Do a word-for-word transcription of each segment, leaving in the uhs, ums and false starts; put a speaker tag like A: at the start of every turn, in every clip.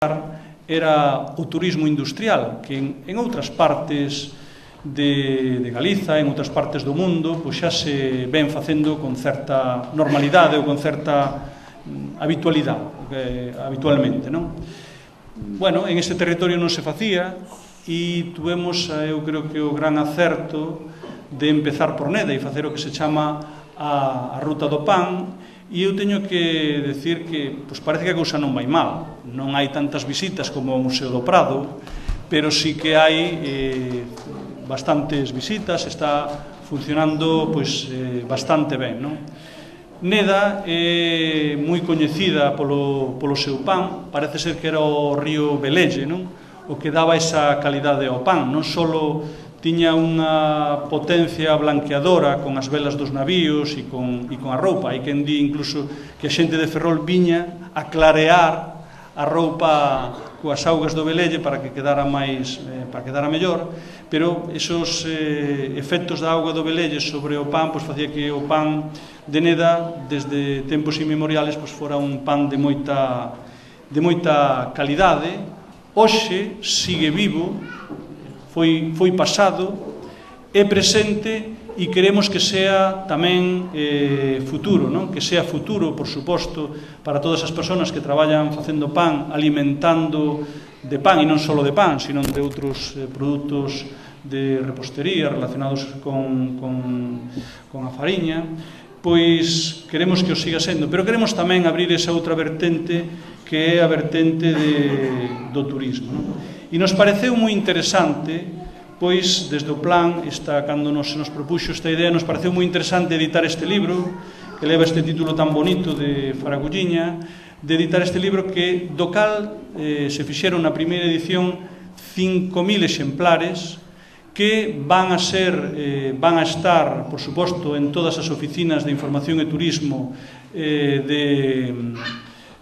A: era o turismo industrial, que en, en outras partes de, de Galiza, en outras partes do mundo, pois xa se ven facendo con certa normalidade ou con certa habitualidade, eh, habitualmente, non? Bueno, en este territorio non se facía e tuvemos, eu creo que o gran acerto de empezar por Neda e facer o que se chama a, a Ruta do Pan. E eu teño que decir que pois parece que a cousa non vai mal. Non hai tantas visitas como o Museo do Prado, pero sí que hai eh, bastantes visitas, está funcionando pois, eh, bastante ben, non? Neda é moi coñecida polo, polo seu pan, parece ser que era o río Velelle, non? O que daba esa calidade ao pan, non só tiña unha potencia blanqueadora con as velas dos navíos e con, e con a roupa. Hai quen di incluso que a xente de Ferrol viña a clarear a roupa coas augas do Velelle para que quedara máis, eh, para que quedara mellor, pero esos eh, efectos da auga do Velelle sobre o pan pois facía que o pan de Neda desde tempos inmemoriales pois fora un pan de moita de moita calidade. Hoxe sigue vivo, foi, foi pasado, é presente e queremos que sea tamén eh, futuro, non? Que sea futuro, por suposto, para todas as persoas que traballan facendo pan, alimentando de pan, e non só de pan, sino de outros eh, produtos de repostería relacionados con, con, con a fariña, pois queremos que o siga sendo, pero queremos tamén abrir esa outra vertente que é a vertente de, do turismo, non? E nos pareceu moi interesante, pois, desde o plan, esta, cando nos, nos propuxo esta idea, nos pareceu moi interesante editar este libro, que leva este título tan bonito de Faragulliña, de editar este libro que, do cal eh, se fixeron na primeira edición cinco mil exemplares, que van a ser, eh, van a estar, por suposto, en todas as oficinas de información e turismo eh, de,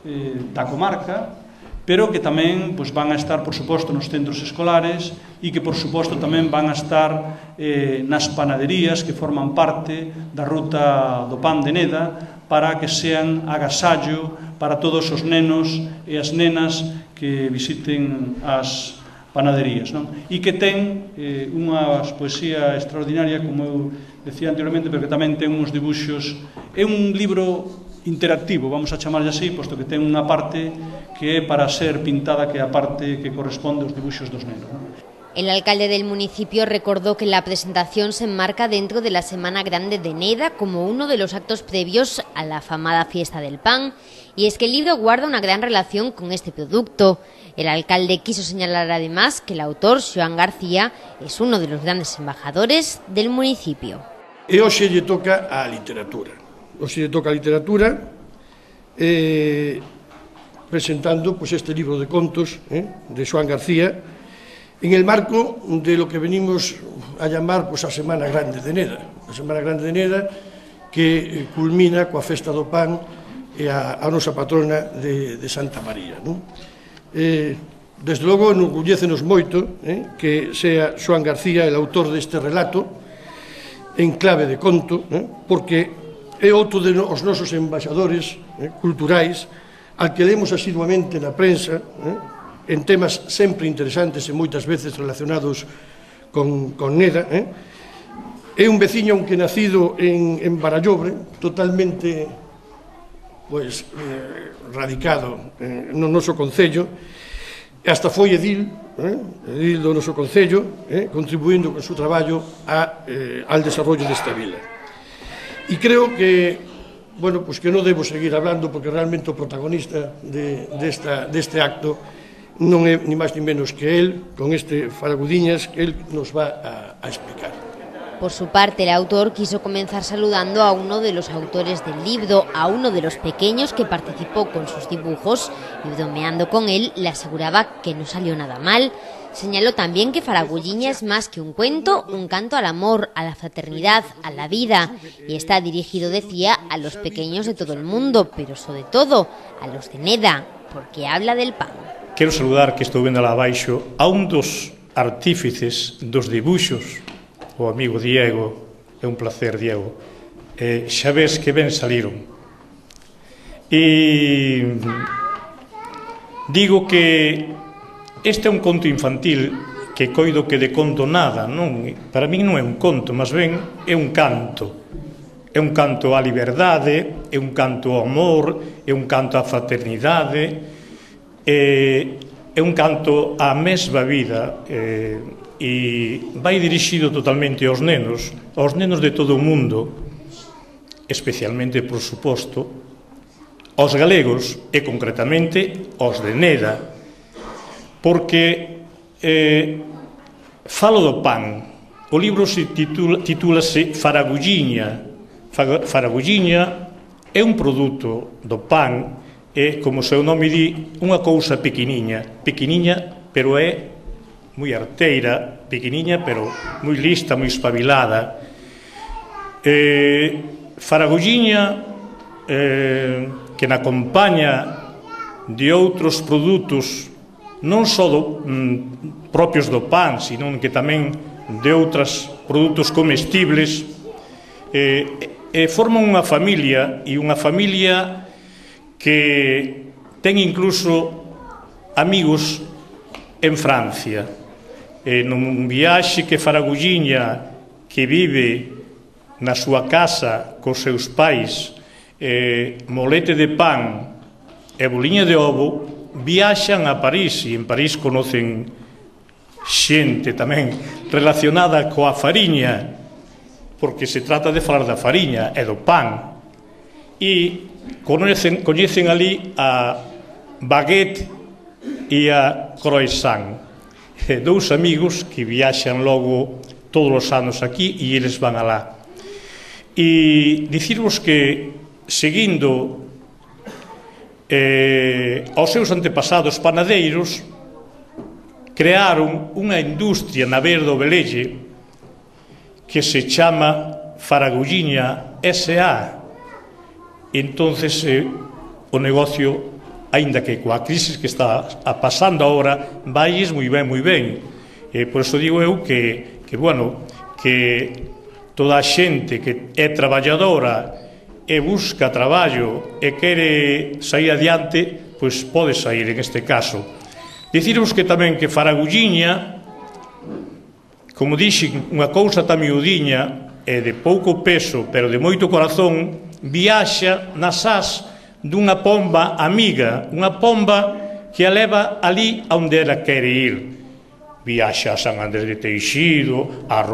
A: eh, da comarca, pero que tamén pois, van a estar, por suposto, nos centros escolares e que, por suposto, tamén van a estar eh, nas panaderías que forman parte da Ruta do Pan de Neda para que sean agasallo para todos os nenos e as nenas que visiten as panaderías, non? E que ten eh, unha poesía extraordinaria, como eu decía anteriormente, pero que tamén ten uns dibuxos. É un libro interactivo, vamos a chamarlle así, posto que ten unha parte que é para ser pintada, que é a parte que corresponde aos dibuxos dos nenos, ¿no?
B: El alcalde del municipio recordó que la presentación se enmarca dentro de la Semana Grande de Neda como uno de los actos previos a la afamada Fiesta del Pan, y es que el libro guarda una gran relación con este producto. El alcalde quiso señalar además que el autor, Xoán García, es uno de los grandes embajadores del municipio.
C: E hoxe lle toca a literatura. Hoxe lle toca a literatura eh, presentando pues, este libro de contos eh, de Xoán García en el marco de lo que venimos a llamar pues, a Semana Grande de Neda. A Semana Grande de Neda que eh, culmina coa Festa do Pan e a, a nosa patrona de, de Santa María, non? Eh, desde logo enorgullécenos moito eh, que sea Xoán García el autor deste relato en clave de conto, eh, porque é outro dos nosos embaixadores eh, culturais al que lemos asiduamente na prensa eh, en temas sempre interesantes e moitas veces relacionados con, con Neda. Eh. É un veciño, aunque nacido en, en Barallobre, totalmente pues, eh, radicado eh, no noso concello, hasta foi edil, eh, edil do noso concello, eh, contribuindo con su traballo a, eh, al desarrollo desta vila. E creo que, bueno, pues que non debo seguir hablando porque realmente o protagonista de, desta, deste acto non é ni máis ni menos que él, con este Faragudiñas, que él nos va a, a explicar.
B: Por su parte, el autor quiso comenzar saludando a uno de los autores del libro, a uno de los pequeños que participó con sus dibujos, y bromeando con él, le aseguraba que no salió nada mal. Señaló también que Faragulliña es más que un cuento, un canto al amor, a la fraternidad, a la vida, y está dirigido, decía, a los pequeños de todo el mundo, pero sobre todo a los de Neda, porque habla del pan.
D: Quero saludar, que estou vendo lá abaixo, a un dos artífices dos dibuxos, o amigo Diego. É un placer, Diego. Eh, xa ves que ben saliron. E digo que este é un conto infantil que coido que de conto nada, non? Para min non é un conto, mas ben é un canto. É un canto á liberdade, é un canto ao amor, é un canto á fraternidade, é un canto á mesma vida, e vai dirixido totalmente aos nenos, aos nenos de todo o mundo, especialmente, por suposto, aos galegos e, concretamente, aos de Neda, porque eh, falo do pan. O libro se titula, titúlase Faragulliña. Faragulliña é un produto do pan, é, como o seu nome di, unha cousa pequeniña, pequeniña, pero é moi arteira, pequeniña, pero moi lista, moi espabilada. Eh, Faragulliña, eh, que na compaña de outros produtos non só do, mm, propios do pan, sino que tamén de outros produtos comestibles, eh, eh, forman unha familia, e unha familia que ten incluso amigos en Francia. Eh, nun viaxe que Faragulliña, que vive na súa casa cos seus pais, eh, molete de pan e boliña de ovo, viaxan a París, e en París conocen xente tamén relacionada coa fariña, porque se trata de falar da fariña e do pan, e coñecen, coñecen ali a baguette e a croissant, e dous amigos que viaxan logo todos os anos aquí, e eles van alá. E dicirvos que, seguindo eh, aos seus antepasados panadeiros, crearon unha industria na beira do Velelle que se chama Faragulliña S A. Entonces, eh, o negocio, aínda que coa crise que está a pasando agora, vailles moi ben, moi ben. Eh, por iso digo eu que, que, bueno, que toda a xente que é traballadora e busca traballo e quere sair adiante, pois pode sair en este caso. Dicirvos que tamén que Faragulliña, como dixen, unha cousa tan miudiña e de pouco peso, pero de moito corazón, viaxa nas ás dunha pomba amiga, unha pomba que a leva ali onde ela quere ir. Viaxa a San Andrés de Teixido, a